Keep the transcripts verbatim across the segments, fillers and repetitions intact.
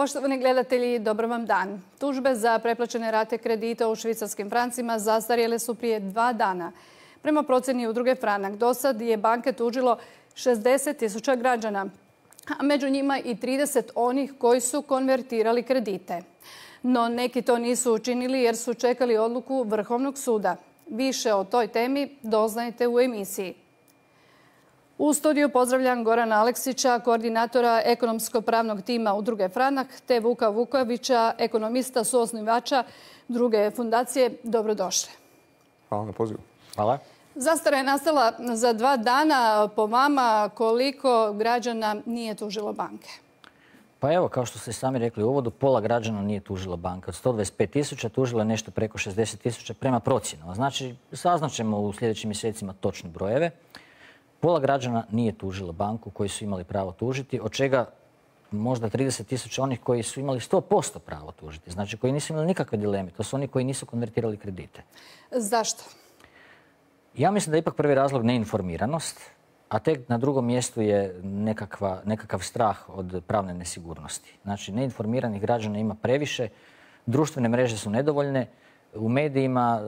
Poštovani gledatelji, dobar vam dan. Tužbe za preplaćene rate kredita u švicarskim francima zastarjele su prije dva dana. Prema procjeni udruge Franak, do sad je banke tužilo šezdeset tisuća građana, a među njima i trideset onih koji su konvertirali kredite. No neki to nisu učinili jer su čekali odluku Vrhovnog suda. Više o toj temi doznajte u emisiji. U studiju pozdravljam Gorana Aleksića, koordinatora ekonomsko-pravnog tima udruge Franak, te Vuka Vukovića, ekonomista, suosnivača druge fundacije. Dobrodošli. Hvala na pozivu. Hvala. Zastara je nastala za dva dana. Po vama, koliko građana nije tužilo banke? Pa evo, kao što ste sami rekli u uvodu, pola građana nije tužilo banke. Od sto dvadeset pet tisuća tužilo je nešto preko šezdeset tisuća prema procjenama. Znači, saznaćemo u sljedećim mjesecima točne brojeve. Pola građana nije tužilo banku koji su imali pravo tužiti, od čega možda trideset tisuća onih koji su imali sto posto pravo tužiti. Znači, koji nisu imali nikakve dileme. To su oni koji nisu konvertirali kredite. Zašto? Ja mislim da je ipak prvi razlog neinformiranost, a tek na drugom mjestu je nekakva, nekakav strah od pravne nesigurnosti. Znači, neinformiranih građana ima previše, društvene mreže su nedovoljne, u medijima,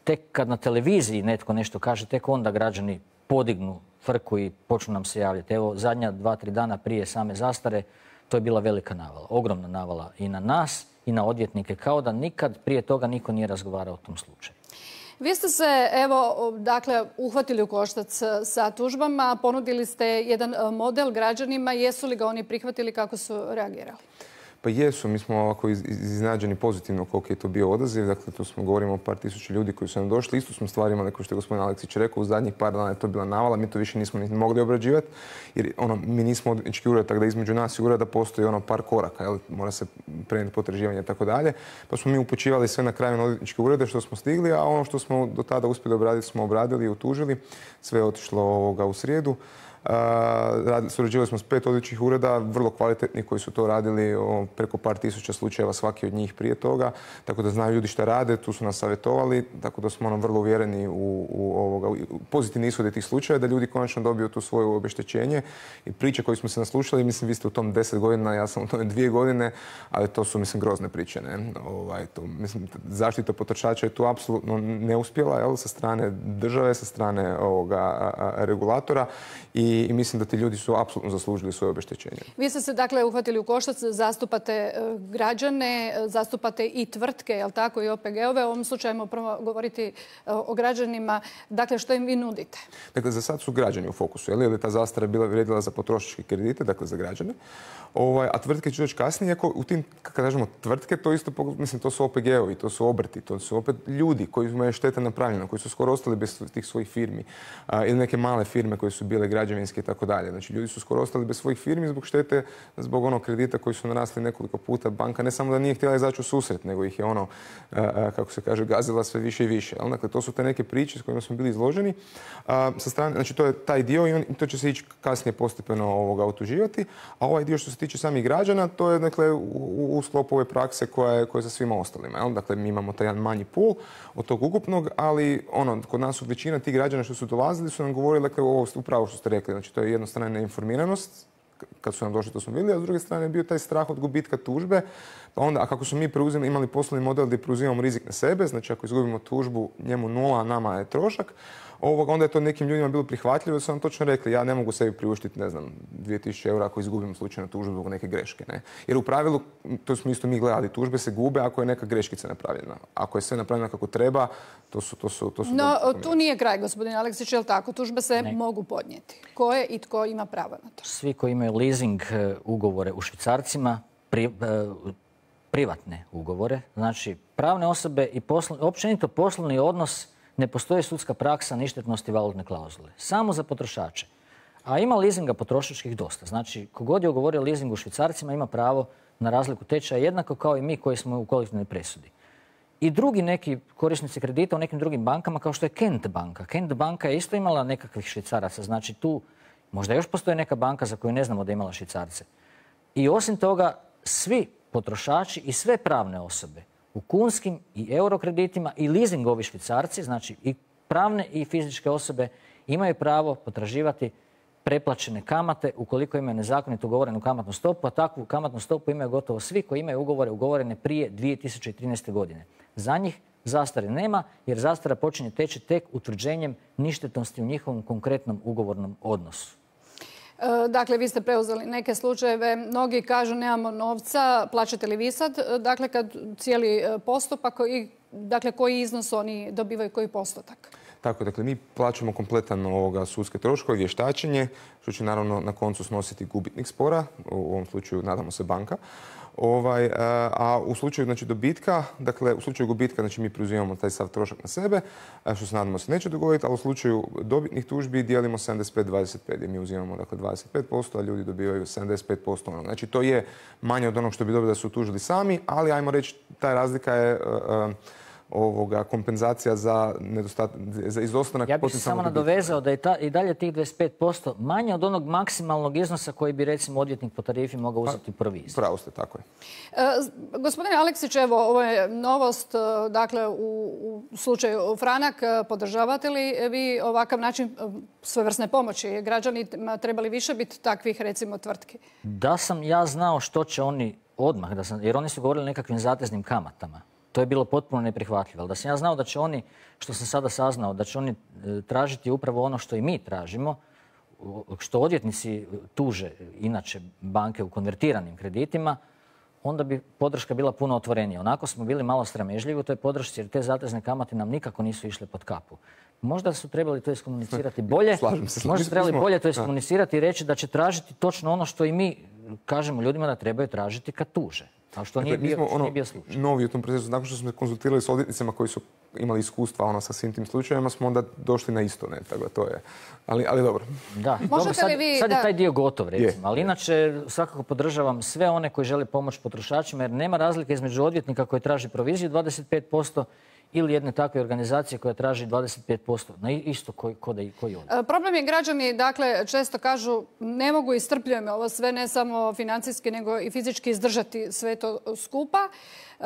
tek kad na televiziji netko nešto kaže, tek onda građani podignu frku i počnu nam se javljati. Evo, zadnja dva, tri dana prije same zastare, to je bila velika navala, ogromna navala i na nas i na odvjetnike, kao da nikad prije toga niko nije razgovarao o tom slučaju. Vi ste se, evo, dakle, uhvatili u koštac sa tužbama, ponudili ste jedan model građanima. Jesu li ga oni prihvatili, kako su reagirali? Pa jesu, mi smo ovako iznenađeni pozitivno koliko je to bio odaziv. Dakle, tu smo govorimo o par tisuća ljudi koji su nam došli. Isto smo stvari imali, kao što je gospodin Aleksić rekao, u zadnjih par dana je to bila navala. Mi to više nismo ni mogli obrađivati, jer ono, mi nismo odvjetnički ured, tako da između nas i ureda postoji ono par koraka, jel? Mora se prenijeti potraživanje i tako dalje. Pa smo mi upućivali sve na kraju na odvjetničke urede što smo stigli, a ono što smo do tada uspjeli obraditi smo obradili i utužili. Sve je otišlo ovoga u srijedu. Uh, surađivali smo s pet odvjetničkih ureda, vrlo kvalitetni koji su to radili o, preko par tisuća slučajeva svaki od njih prije toga, tako da znaju ljudi šta rade, tu su nas savjetovali, tako da smo ono vrlo uvjereni u, u, ovoga, u pozitivne ishode tih slučaja, da ljudi konačno dobiju tu svoje obeštećenje. I priče koje smo se naslušali, mislim vi ste u tom deset godina, ja sam u tome dvije godine, ali to su mislim grozne priče. Ne? Ovaj, to, mislim, zaštita potrošača je tu apsolutno neuspjela, jel, sa strane države, sa strane ovoga, a, a, regulatora i I mislim da ti ljudi su apsolutno zaslužili svoje obeštećenje. Vi ste se dakle uhvatili u koštac, zastupate građane, zastupate i tvrtke, jel tako, i O P G-ove. U ovom slučaju ćemo prvo govoriti o građanima. Dakle, što im vi nudite? Dakle, za sad su građani u fokusu, jer je ta zastara bila vrijedila za potrošačke kredite, dakle za građane. Ovaj, a tvrtke će doći kasnije, ako u tim, kada kažemo tvrtke, to isto, mislim, to su O P G-ovi, to su obrti, to su opet ljudi koji imaju šteta napravljena, koji su skoro ostali bez tih svojih firmi, a, ili neke male firme koje su bile građevinske i tako dalje. Znači, ljudi su skoro ostali bez svojih firmi zbog štete, zbog onog kredita koji su narasli nekoliko puta. Banka ne samo da nije htjela izaći u susret, nego ih je ono, a, a, kako se kaže, gazila sve više i više. Jel? Dakle, to su te neke priče s kojima smo bili izloženi. A, sa strane, znači, to je taj dio i on, to će se ići kasnije postepeno ovoga utuživati. A ovaj dio što se tiče samih građana, to je dakle u, u sklopu ove prakse koja je, koja je za svima ostalima. Jel? Dakle, mi imamo taj jedan manji pool od tog ukupnog, ali ono, kod nas su većina tih građana što su dolazili su nam govorili, dakle, ovo upravo što ste rekli. Znači, to je jedno strane neinformiranost, kad su nam došli to smo vidjeli, a s druge strane je bio taj strah od gubitka tužbe. Pa onda, a kako smo mi preuzeli, imali poslovni model gdje preuzimamo rizik na sebe, znači ako izgubimo tužbu, njemu nula, a nama je trošak, ovoga, onda je to nekim ljudima bilo prihvatljivo da su nam točno rekli ja ne mogu sebi priuštiti, ne znam, dvije tisuće eura ako izgubim slučajno tužbu zbog neke greške. Ne? Jer u pravilu, to smo isto mi gledali, tužbe se gube ako je neka greškica napravljena. Ako je sve napravljeno kako treba, to su... To su, to su no, tu nije kraj, gospodin Aleksić, je li tako? Tužbe se ne. mogu podnijeti. Ko je i tko ima pravo na to? Svi koji imaju leasing ugovore u švicarcima, pri, privatne ugovore, znači pravne osobe i poslovni, općenito poslovni odnos, ne postoji sudska praksa ništetnosti valutne klauzule. Samo za potrošače. A ima leasinga potrošačkih dosta. Znači, kogod je ugovorio leasing u švicarcima ima pravo na razliku tečaja jednako kao i mi koji smo u kolektivnoj presudi. I drugi neki korisnici kredita u nekim drugim bankama kao što je Kent banka. Kent banka je isto imala nekakvih švicaraca. Znači, tu možda još postoji neka banka za koju ne znamo da je imala švicarce. I osim toga, svi potrošači i sve pravne osobe u kunskim i eurokreditima i leasingovi švicarci, znači i pravne i fizičke osobe, imaju pravo potraživati preplaćene kamate ukoliko imaju nezakonito ugovorenu kamatnu stopu, a takvu kamatnu stopu imaju gotovo svi koji imaju ugovore ugovorene prije dvije tisuće trinaeste. godine. Za njih zastare nema jer zastara počinje teći tek utvrđenjem ništetnosti u njihovom konkretnom ugovornom odnosu. Dakle, vi ste preuzeli neke slučajeve. Mnogi kažu nemamo novca, plaćate li vi sad? Dakle, kad cijeli postupak i dakle, koji iznos oni dobivaju, koji postotak? Tako, dakle, mi plaćamo kompletan ovoga sudske troškove, vještačenje, što će naravno na koncu snositi gubitnik spora, u ovom slučaju nadamo se banka. Ovaj, a u slučaju znači, dobitka, dakle u slučaju gubitka znači, mi preuzimamo taj sav trošak na sebe, što se nadamo se neće dogoditi, a u slučaju dobitnih tužbi dijelimo sedamdeset pet dvadeset pet, gdje mi uzimamo dakle, dvadeset pet posto, a ljudi dobivaju sedamdeset pet posto onog. Znači to je manje od onog što bi dobili da su tužili sami, ali ajmo reći ta razlika je uh, ovoga, kompenzacija za nedostatak, za izostanak. Ja bih se samo nadovezao da je ta, i dalje tih dvadeset pet posto manje od onog maksimalnog iznosa koji bi recimo odvjetnik po tarifi mogao uzeti proviziju. Pravo ste, tako je. E, gospodine Aleksić, evo, ovo je novost, dakle, u, u slučaju Franak, podržavate li vi ovakav način svojevrsne pomoći? Građanima trebali više biti takvih, recimo, tvrtki? Da sam ja znao što će oni odmah, da sam, jer oni su govorili o nekakvim zateznim kamatama. To je bilo potpuno neprihvatljivo. Ali da sam ja znao da će oni, što sam sada saznao, da će oni tražiti upravo ono što i mi tražimo, što odvjetnici tuže inače banke u konvertiranim kreditima, onda bi podrška bila puno otvorenija. Onako smo bili malo sramežljivi u toj podršci jer te zatezne kamate nam nikako nisu išle pod kapu. Možda su trebali to iskomunicirati bolje. Slažem se. Možda su trebali bolje to iskomunicirati i reći da će tražiti točno ono što i mi kažemo ljudima da trebaju tražiti kad tuže. A što nije bio, ono, nije bio slučaj. Novi u tom procesu, nakon što smo se konzultirali s odvjetnicima koji su imali iskustva ono, sa svim tim slučajevima, smo onda došli na isto. Ne? Tako, to je. Ali, ali dobro. Da, dobro, sad, vi, sad da... je taj dio gotov, recimo. Je. Ali inače, svakako podržavam sve one koji žele pomoći potrošačima, jer nema razlike između odvjetnika koji traži proviziju dvadeset pet posto ili jedne takve organizacije koja traži dvadeset pet posto na isto koji, koji, koji odvjetnik. Problem je građani, dakle, često kažu ne mogu i strpljujem ovo sve, ne samo financijski, nego i fizički izdržati sve to skupa. E,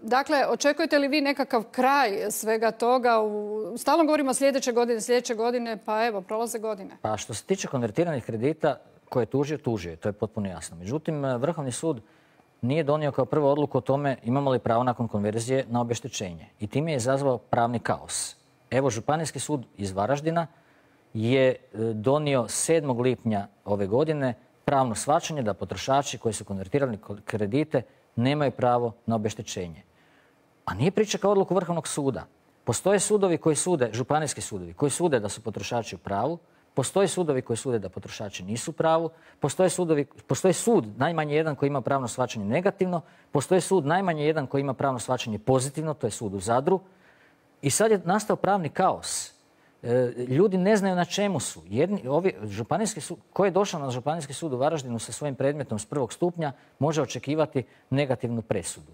dakle, očekujete li vi nekakav kraj svega toga? U... Stalno govorimo sljedeće godine, sljedeće godine, pa evo, prolaze godine. Pa što se tiče konvertiranih kredita koje je tužio, tužio je, to je potpuno jasno. Međutim, Vrhovni sud nije donio kao prvu odluku o tome imamo li pravo nakon konverzije na obeštećenje. I time je izazvao pravni kaos. Evo, Županijski sud iz Varaždina je donio sedmog lipnja ove godine pravno shvaćanje da potrošači koji su konvertirali kredite nemaju pravo na obeštećenje. A nije pričekao odluku Vrhovnog suda. Postoje sudovi koji sude, županijski sudovi, koji sude da su potrošači u pravu. Postoje sudovi koji sude da potrošači nisu u pravu. Postoje, sudovi, postoje sud najmanje jedan koji ima pravno shvaćanje negativno. Postoje sud najmanje jedan koji ima pravno shvaćanje pozitivno. To je sud u Zadru. I sad je nastao pravni kaos. E, ljudi ne znaju na čemu su. Jedni, ovi, županijski sud, ko je došao na Županijski sud u Varaždinu sa svojim predmetom s prvog stupnja može očekivati negativnu presudu.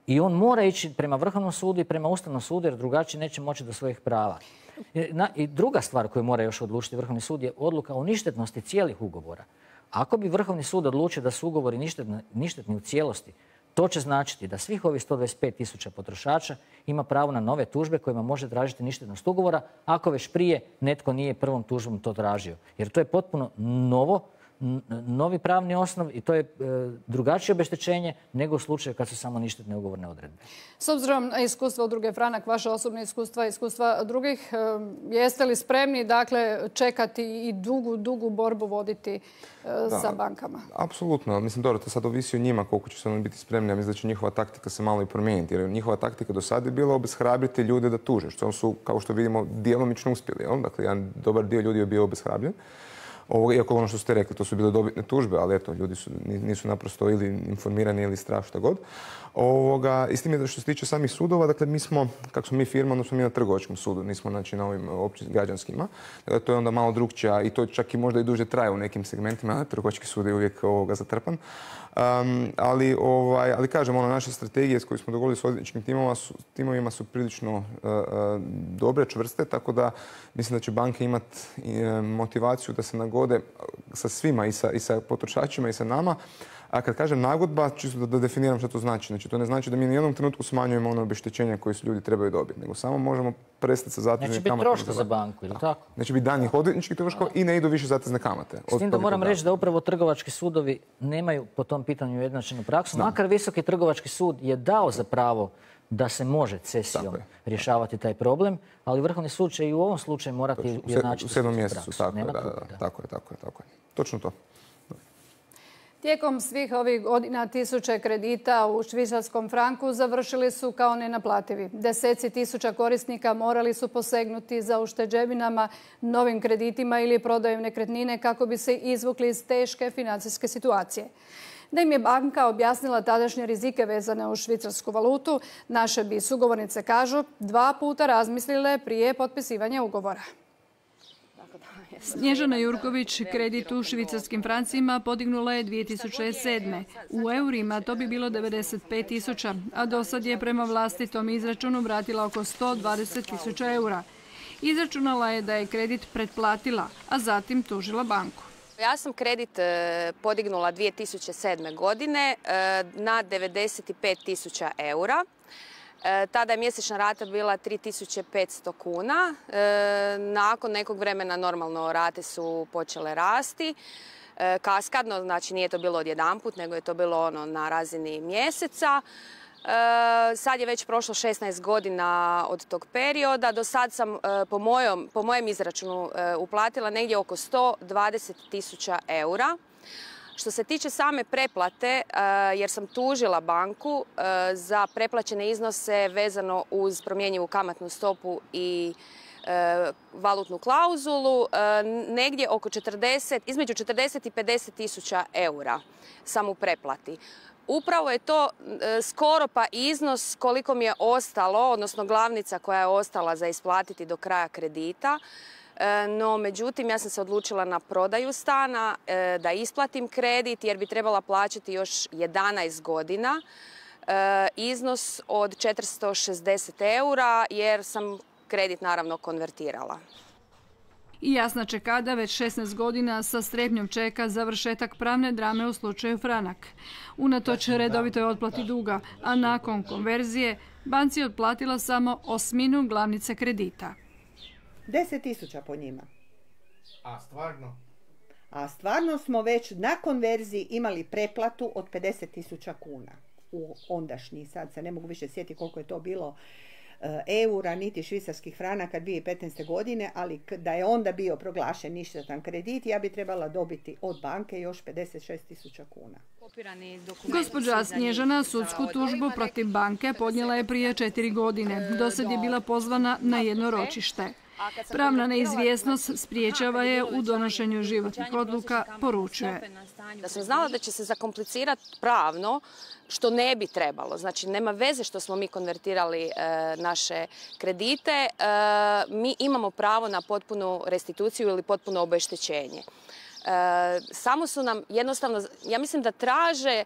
I on mora ići prema Vrhovnom sudu i prema Ustavnom sudu jer drugačije neće moći do svojih prava. I druga stvar koju mora još odlučiti Vrhovni sud je odluka o ništetnosti cijelih ugovora. Ako bi Vrhovni sud odlučio da su ugovori ništetni, ništetni u cijelosti, to će značiti da svih ovih sto dvadeset pet tisuća potrošača ima pravo na nove tužbe kojima može tražiti ništetnost ugovora ako već prije netko nije prvom tužbom to tražio. Jer to je potpuno novo, novi pravni osnov i to je e, drugačije obeštećenje nego u slučaju kad su samo ništetne ugovorne odredbe. S obzirom na iskustva Udruge Franak, vaše osobne iskustva i iskustva drugih, e, jeste li spremni dakle, čekati i dugu, dugu borbu voditi e, da, sa bankama? Apsolutno. Mislim, dobro, to sad ovisi o njima koliko će se oni biti spremni. Ja mislim da će njihova taktika se malo i promijeniti. Jer njihova taktika do sada je bila obeshrabriti ljude da tuže. Što su, kao što vidimo, djelomično uspjeli. Jel? Dakle, jedan dobar dio ljudi je bio obeshrabljen. Ovo, iako ono što ste rekli, to su bile dobitne tužbe, ali eto, ljudi su, nisu naprosto ili informirani ili strah šta god. Ovoga, i s tim je što se tiče samih sudova, dakle mi smo, kako smo mi firma, onda smo mi na trgovačkom sudu, nismo znači, na ovim općim građanskima. Dakle, to je onda malo drukčija i to čak i možda i duže traje u nekim segmentima, a trgovački sud je uvijek ovoga zatrpan. Um, ali, ovaj, ali kažem, ono, naše strategije s koje smo dogovorili s odvjetničkim timovima su, timovima su prilično uh, uh, dobre, čvrste, tako da mislim da će banke imati uh, motivaciju da se nagode sa svima i sa, i sa potrošačima i sa nama. A kad kažem nagodba, čisto da, da definiram što to znači. Znači, to ne znači da mi u jednom trenutku smanjujemo ono obeštećenja koje su ljudi trebaju dobiti, nego samo možemo prestati sa zateznim kamatama. Neće biti troška za banku, ili tako? Neće biti danih odvjetničkih troškova i ne idu više zatezne kamate. S tim da moram reći da upravo trgovački sudovi nemaju po tom pitanju ujednačenu praksu. Makar Visoki trgovački sud je dao za pravo da se može cesijom rješavati taj problem, ali Vrhovni sud će i u ovom slučaju morati ujednačiti u sedmom mjesecu. Tako je, da, da, da, tako je, tako je, tako je. Točno to. Tijekom svih ovih godina tisuće kredita u švicarskom franku završili su kao nenaplativi. Deseci tisuća korisnika morali su posegnuti za ušteđevinama, novim kreditima ili prodajom nekretnine kako bi se izvukli iz teške financijske situacije. Da im je banka objasnila tadašnje rizike vezane uz švicarsku valutu, naše bi sugovornice, kažu, dva puta razmislile prije potpisivanja ugovora. Snježana Jurković kredit u švicarskim francima podignula je dvije tisuće sedme. U eurima to bi bilo devedeset pet tisuća, a do sad je prema vlastitom izračunu vratila oko sto dvadeset tisuća eura. Izračunala je da je kredit pretplatila, a zatim tužila banku. Ja sam kredit podignula dvije tisuće sedme. godine na devedeset pet tisuća eura. Tada je mjesečna rata bila tri tisuće petsto kuna. Nakon nekog vremena normalno rate su počele rasti. Kaskadno, znači nije to bilo odjedanput, nego je to bilo ono na razini mjeseca. Sad je već prošlo šesnaest godina od tog perioda. Do sad sam po, mojom, po mojem izračunu uplatila negdje oko sto dvadeset tisuća eura. Što se tiče same preplate, jer sam tužila banku za preplaćene iznose vezano uz promjenjivu kamatnu stopu i valutnu klauzulu, negdje oko četrdeset, između četrdeset i pedeset tisuća eura sam u preplati. Upravo je to skoro pa iznos koliko mi je ostalo, odnosno glavnica koja je ostala za isplatiti do kraja kredita. No, međutim, ja sam se odlučila na prodaju stana, da isplatim kredit jer bi trebala plaćati još jedanaest godina. Iznos od četiristo šezdeset eura jer sam kredit naravno konvertirala. I Jasna Čekada već šesnaest godina sa strepnjom čeka završetak pravne drame u slučaju Franak. Unatoč redovitoj otplati duga, a nakon konverzije banci je otplatila samo osminu glavnice kredita. deset tisuća po njima. A stvarno? A stvarno smo već na konverziji imali preplatu od pedeset tisuća kuna. U ondašnji, sad se ne mogu više sjetiti koliko je to bilo eura, niti švicarskih franaka dvije tisuće petnaeste. godine, ali da je onda bio proglašen ništetan kredit, ja bi trebala dobiti od banke još pedeset šest tisuća kuna. Gospođa Snježana sudsku tužbu protiv banke podnijela je prije četiri godine. Dosad je bila pozvana na jedno ročište. Pravna neizvjesnost spriječava je u donošenju životnih odluka, poručuje. Da sam znala da će se zakomplicirati pravno, što ne bi trebalo. Znači, nema veze što smo mi konvertirali e, naše kredite. E, mi imamo pravo na potpunu restituciju ili potpuno obeštećenje. E, samo su nam jednostavno, ja mislim da traže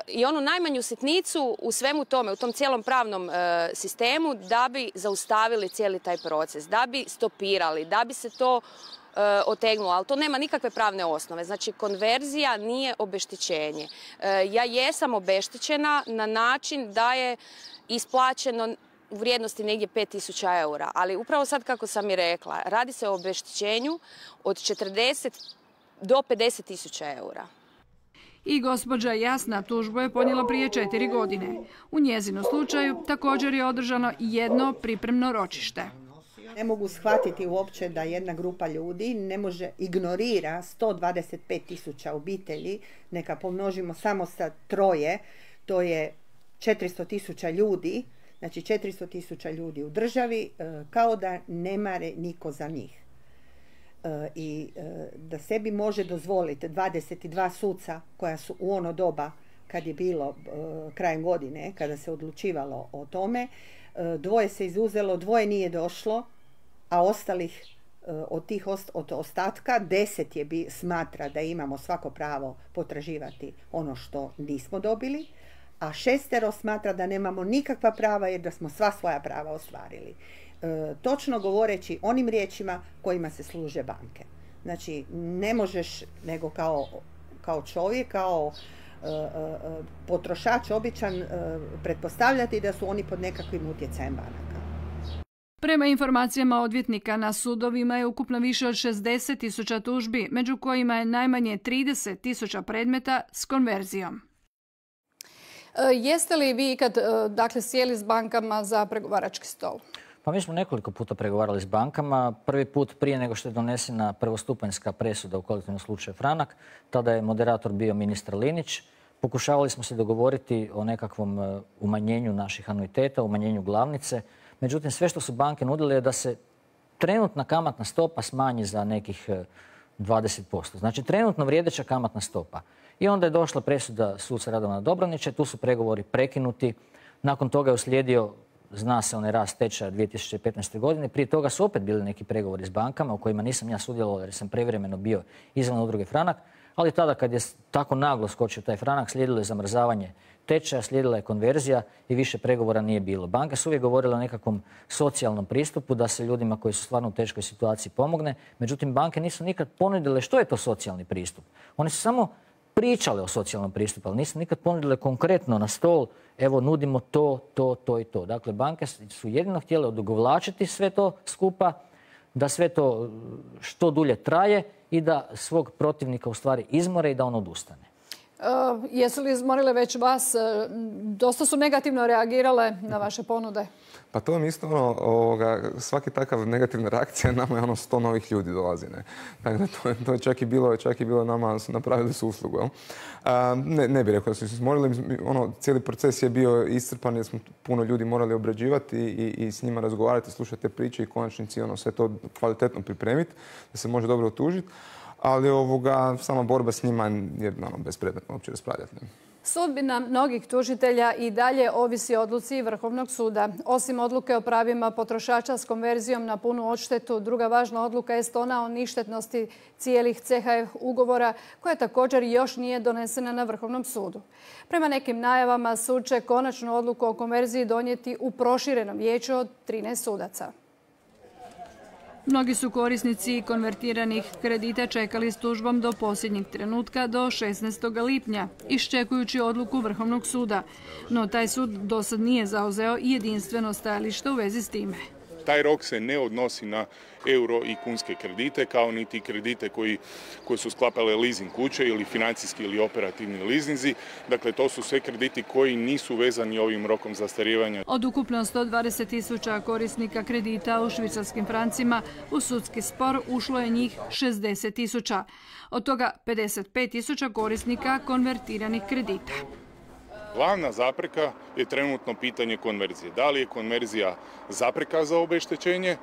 i onu najmanju sitnicu u svemu tome, u tom cijelom pravnom e, sistemu, da bi zaustavili cijeli taj proces, da bi stopirali, da bi se to e, otegnulo, ali to nema nikakve pravne osnove. Znači, konverzija nije obeštećenje. E, ja jesam obeštećena na način da je isplaćeno u vrijednosti negdje pet tisuća eura, ali upravo sad kako sam i rekla, radi se o obeštećenju od četrdeset do pedeset tisuća eura. I gospođa Jasna tužbu je podnijela prije četiri godine. U njezinu slučaju također je održano jedno pripremno ročište. Ne mogu shvatiti uopće da jedna grupa ljudi ne može ignorira sto dvadeset pet tisuća obitelji, neka pomnožimo samo sa troje, to je četiristo tisuća ljudi, znači četiristo tisuća ljudi u državi, kao da ne mare niko za njih. I da sebi može dozvoliti dvadeset dva suca koja su u ono doba kad je bilo krajem godine, kada se odlučivalo o tome, dvoje se izuzelo, dvoje nije došlo, a ostalih od tih od ostatka deset je bi, smatra da imamo svako pravo potraživati ono što nismo dobili, a šestero smatra da nemamo nikakva prava jer da smo sva svoja prava ostvarili. E, točno govoreći onim riječima kojima se služe banke. Znači, ne možeš nego kao, kao čovjek, kao potrošač običan pretpostavljati da su oni pod nekakvim utjecajem banaka. Prema informacijama odvjetnika, na sudovima je ukupno više od šezdeset tisuća tužbi, među kojima je najmanje trideset tisuća predmeta s konverzijom. Jeste li vi ikad dakle, sjeli s bankama za pregovarački stol? Pa mi smo nekoliko puta pregovarali s bankama. Prvi put prije nego što je donesena prvostupanjska presuda u kolektivnom slučaju Franak. Tada je moderator bio ministar Linić. Pokušavali smo se dogovoriti o nekakvom umanjenju naših anuiteta, umanjenju glavnice. Međutim, sve što su banke nudile je da se trenutna kamatna stopa smanji za nekih dvadeset posto. Znači, trenutno vrijedeća kamatna stopa. I onda je došla presuda suca Radovana Dobronića, tu su pregovori prekinuti. Nakon toga je uslijedio, zna se, onaj rast tečaja dvije tisuće petnaeste. godine. Prije toga su opet bili neki pregovori s bankama u kojima nisam ja sudjelovao jer sam prevremeno bio izvan udruge Franak. Ali tada kad je tako naglo skočio taj Franak, slijedilo je zamrzavanje tečaja, slijedila je konverzija i više pregovora nije bilo. Banke su uvijek govorile o nekakvom socijalnom pristupu da se ljudima koji su stvarno u teškoj situaciji pomogne. Međutim, banke nisu nikad ponudile što je to socijalni pristup. Oni su samo pričale o socijalnom pristupu, ali nisu nikad ponudile konkretno na stol, evo nudimo to, to, to i to. Dakle, banke su jedino htjele odugovlačiti sve to skupa, da sve to što dulje traje i da svog protivnika u stvari izmore i da on odustane. Uh, jesu li izmorile već vas? Dosta su negativno reagirale na vaše ponude. Pa to je isto ono, ovoga, svaki takav negativna reakcija nama je ono sto novih ljudi dolazi. Ne? Tako da to, to je čak i bilo, čak i bilo nama, su napravili su uslugu. Uh, ne, ne bih rekao da su se izmorili. Ono, cijeli proces je bio iscrpan jer smo puno ljudi morali obrađivati i, i s njima razgovarati, slušati te priče i konačnici ono, sve to kvalitetno pripremiti da se može dobro otužiti. Ali ovoga, sama borba s njima je ono, bespredmetno uopće raspravljati. Sudbina mnogih tužitelja i dalje ovisi o odluci Vrhovnog suda. Osim odluke o pravima potrošača s konverzijom na punu odštetu, druga važna odluka je ona o ništetnosti cijelih C H F ugovora, koja također još nije donesena na Vrhovnom sudu. Prema nekim najavama sud će konačnu odluku o konverziji donijeti u proširenom vijeću od trinaest sudaca. Mnogi su korisnici konvertiranih kredita čekali s tužbom do posljednjeg trenutka, do šesnaestog lipnja, iščekujući odluku Vrhovnog suda. No taj sud dosad nije zauzeo jedinstveno stajalište u vezi s time. Taj rok se ne odnosi na euro i kunske kredite, kao niti kredite koji, koji su sklapale leasing kuće ili financijski ili operativni leasinzi. Dakle, to su sve krediti koji nisu vezani ovim rokom zastarijevanja. Od ukupno sto dvadeset tisuća korisnika kredita u švicarskim francima u sudski spor ušlo je njih šezdeset tisuća. Od toga pedeset pet tisuća korisnika konvertiranih kredita. Glavna zapreka je trenutno pitanje konverzije. Da li je konverzija zapreka za obeštećenje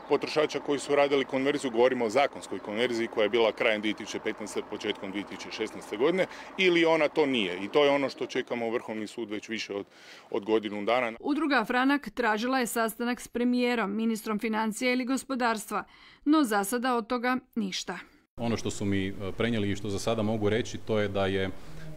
potrošača koji su radili konverziju, govorimo o zakonskoj konverziji koja je bila krajem dvije tisuće petnaeste. početkom dvije tisuće šesnaeste. godine, ili ona to nije. I to je ono što čekamo Vrhovni sud već više od, od godinu dana. Udruga Franak tražila je sastanak s premijerom, ministrom financija ili gospodarstva, no za sada od toga ništa. Ono što su mi prenijeli i što za sada mogu reći, to je da je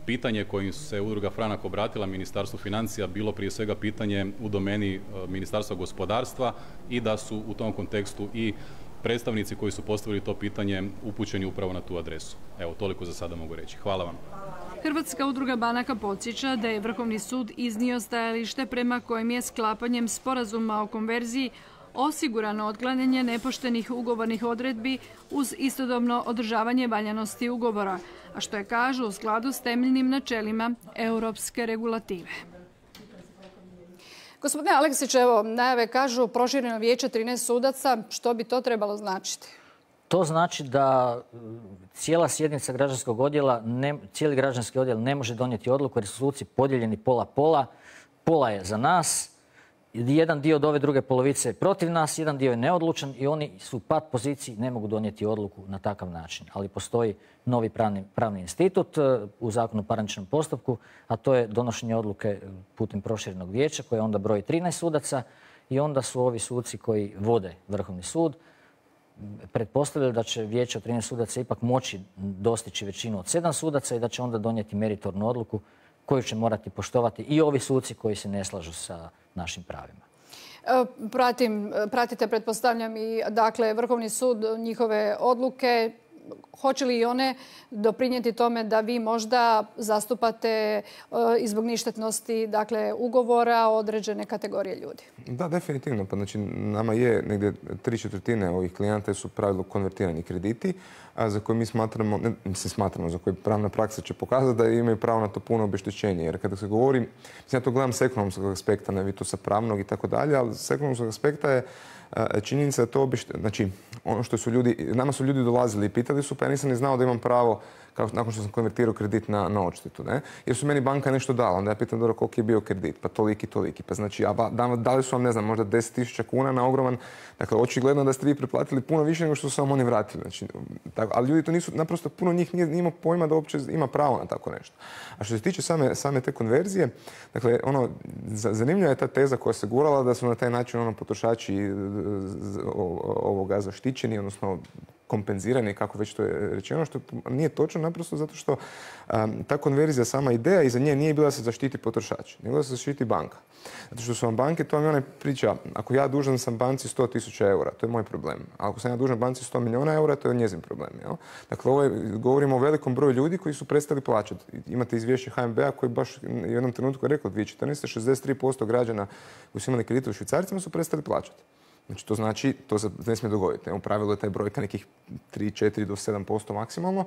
pitanje kojim se Udruga Franak obratila Ministarstvu financija bilo prije svega pitanje u domeni Ministarstva gospodarstva i da su u tom kontekstu i predstavnici koji su postavili to pitanje upućeni upravo na tu adresu. Evo, toliko za sada mogu reći. Hvala vam. Hrvatska udruga banaka podsjeća da je Vrhovni sud iznio stajalište prema kojem je sklapanjem sporazuma o konverziji osigurano otklanjanje nepoštenih ugovornih odredbi uz istodobno održavanje valjanosti ugovora, a što je, kažu, u skladu s temeljnim načelima europske regulative. Gospodine Aleksić, evo, najave kažu prošireno vijeće trinaest sudaca. Što bi to trebalo značiti? To znači da cijela sjednica građanskog odjela, ne, cijeli građanski odjel ne može donijeti odluku jer su suci podijeljeni pola-pola. Pola je za nas, jedan dio od ove druge polovice je protiv nas, jedan dio je neodlučan i oni su u pat poziciji, ne mogu donijeti odluku na takav način. Ali postoji novi pravni, pravni institut u Zakonu o parničnom postupku, a to je donošenje odluke putem proširenog vijeća koje onda broji trinaest sudaca i onda su ovi suci koji vode Vrhovni sud pretpostavljaju da će vijeće od trinaest sudaca ipak moći dostići većinu od sedam sudaca i da će onda donijeti meritornu odluku koju će morati poštovati i ovi suci koji se ne slažu sa našim pravima. Pratim, pratite, pretpostavljam, i dakle Vrhovni sud, njihove odluke. hoće li i one doprinijeti tome da vi možda zastupate i zbog ništetnosti, dakle, ugovora određene kategorije ljudi? Da, definitivno. Pa znači, nama je negdje tri četvrtine ovih klijenata su pravilu konvertirani krediti, a za koje mi smatramo, ne, mislim smatramo, za koje pravna praksa će pokazati da imaju pravo na to puno obeštećenje. Jer kada se govori, mislim, ja to gledam s ekonomskog aspekta, ne vi to sa pravnog i tako dalje, ali s ekonomskog aspekta je činjenica da to obeštećenje, znači, ono što su ljudi, nama su ljudi dolazili i pitali su, pa ja nisam ni znao da imam pravo kao nakon što sam konvertirao kredit na, na odštetu, ne? Jer su meni banka nešto dala, onda ja pitam dobro koliki je bio kredit, pa toliki, toliki, pa znači, a da, dali su vam, ne znam, možda deset tisuća kuna na ogroman, dakle, očigledno da ste vi preplatili puno više nego što su vam oni vratili, znači, tako, ali ljudi to nisu, naprosto puno njih nije, nije imao pojma da uopće ima pravo na tako nešto. A što se tiče same, same te konverzije, dakle, ono, zanimljiva je ta teza koja se gurala da su na taj način ono potrošači ovoga zaštićeni, odnosno kompenzirani, kako već to je rečeno, što nije točno naprosto zato što um, ta konverzija, sama ideja iza nje nije bila da se zaštiti potrošač, nego da se zaštiti banka. Zato što su vam banke, to vam je onaj priča, ako ja dužan sam banci sto tisuća eura, to je moj problem. A ako sam ja dužan banci sto milijuna eura, to je njezin problem. Jel? Dakle, ovo je, govorimo o velikom broju ljudi koji su prestali plaćati. Imate izvješće H N B-a koji baš u jednom trenutku je rekao dvije tisuće četrnaeste. šezdeset tri posto građana koji su imali kredite u švicarcima su prestali plaćati. Znači, to znači, to se ne smije dogoditi. U pravilu je taj brojka nekih tri, četiri do sedam posto maksimalno,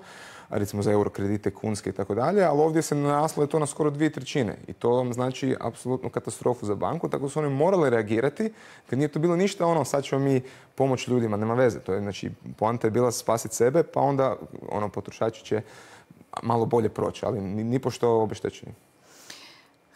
a recimo za euro kredite, kunske i tako dalje, ali ovdje se naraslo je to na skoro dvije trećine. I to vam znači apsolutnu katastrofu za banku, tako su oni morali reagirati, jer nije to bilo ništa ono, sad ćemo mi pomoći ljudima, nema veze. To je, znači, poanta je bila spasiti sebe, pa onda ono, potrošači će malo bolje proći, ali ni, ni pošto obeštećeni.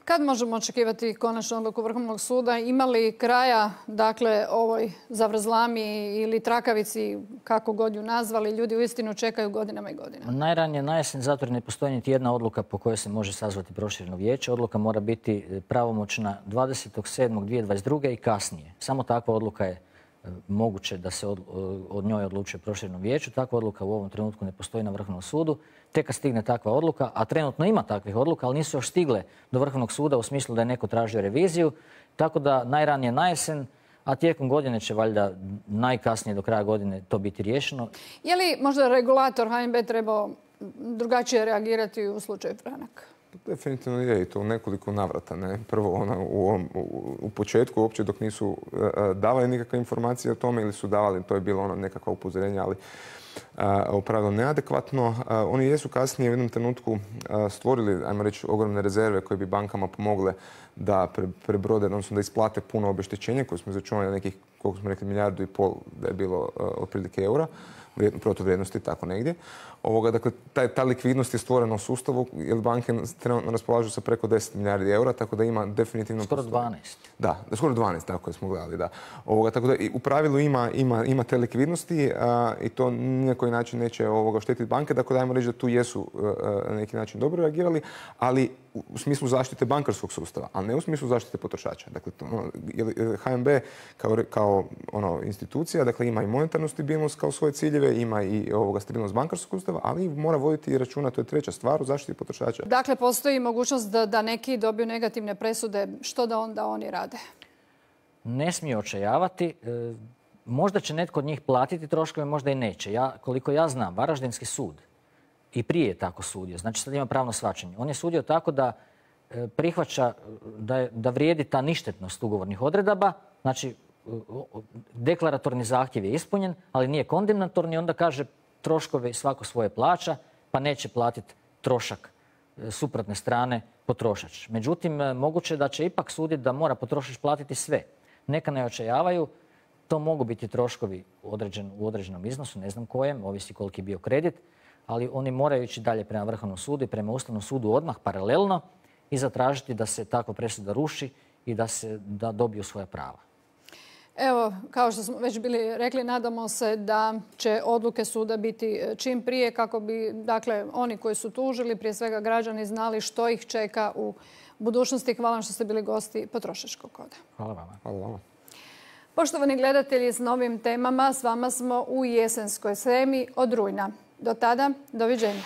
Kad možemo očekivati konačnu odluku Vrhovnog suda? Ima li kraja, dakle, ovoj zavrzlami ili trakavici, kako god ju nazvali, ljudi uistinu čekaju godinama i godinama? Najranije na jesen, zato jer ne postoji niti jedna odluka po kojoj se može sazvati prošireno vijeće. Odluka mora biti pravomoćna dvadesetog sedmog dvije tisuće dvadeset druge i kasnije. Samo takva odluka je moguće da se od, od njoj odlučuje prošireno vijeću. Takva odluka u ovom trenutku ne postoji na Vrhovnom sudu. Tek kad stigne takva odluka, a trenutno ima takvih odluka, ali nisu još stigle do Vrhovnog suda u smislu da je neko tražio reviziju, tako da najranije na jesen, a tijekom godine će valjda najkasnije do kraja godine to biti riješeno. Je li možda regulator H N B trebao drugačije reagirati u slučaju Franak? Definitivno je i to u nekoliko navrata. Ne? Prvo ona, u, u, u početku uopće dok nisu uh, davali nikakve informacije o tome ili su davali, to je bilo ono nekakva upozorenja, ali u pravilu neadekvatno. Oni jesu kasnije u jednom trenutku stvorili, ajmo reći, ogromne rezerve koje bi bankama pomogle da prebrode, odnosno da isplate puno obeštećenja koje smo izračunali na nekih, koliko smo rekli, milijardu i pol da je bilo otprilike eura, protuvrijednosti, tako negdje. Ovoga, dakle, ta, ta likvidnost je stvorena u sustavu, jer banke trenutno raspolažu sa preko deset milijardi eura, tako da ima definitivno... Skoro dvanaest. Da, skoro dvanaest, tako je smo gledali, da. Ovoga, tako da u pravilu ima, ima, ima te likvidnosti a, i to ni na koji način neće ovoga štetiti banke, tako da ajmo reći da tu jesu a, na neki način dobro reagirali, ali u smislu zaštite bankarskog sustava, a ne u smislu zaštite potrošača. Dakle, to, ono, H N B kao, kao ono, institucija, dakle, ima i monetarnu stabilnost kao svoje ciljeve, ima i ovoga stabilnost bankarskog sustava, ali mora voditi i računa, to je treća stvar, u zaštiti potrošača. Dakle, postoji mogućnost da, da neki dobiju negativne presude, što da onda oni rade? Ne smiju očajavati. E, možda će netko od njih platiti troškove, možda i neće. Ja, koliko ja znam, Varaždinski sud i prije je tako sudio, znači sad ima pravno shvaćanje. On je sudio tako da e, prihvaća da, je, da vrijedi ta ništetnost ugovornih odredaba, znači deklaratorni zahtjev je ispunjen, ali nije kondemnatorni, onda kaže troškove svako svoje plaća, pa neće platiti trošak suprotne strane potrošač. Međutim, moguće je da će ipak suditi da mora potrošač platiti sve. Neka ne očajavaju, to mogu biti troškovi određen, u određenom iznosu, ne znam kojem, ovisi koliki je bio kredit, ali oni moraju ići dalje prema Vrhovnom sudu i prema Ustavnom sudu odmah paralelno i zatražiti da se takva presuda ruši i da se da dobiju svoja prava. Evo, kao što smo već bili rekli, nadamo se da će odluke suda biti čim prije kako bi, dakle, oni koji su tužili, prije svega građani, znali što ih čeka u budućnosti. Hvala vam što ste bili gosti Potrošačkog koda. Hvala vama. Hvala vama. Poštovani gledatelji, s novim temama s vama smo u jesenskoj semi od rujna. Do tada, doviđenja.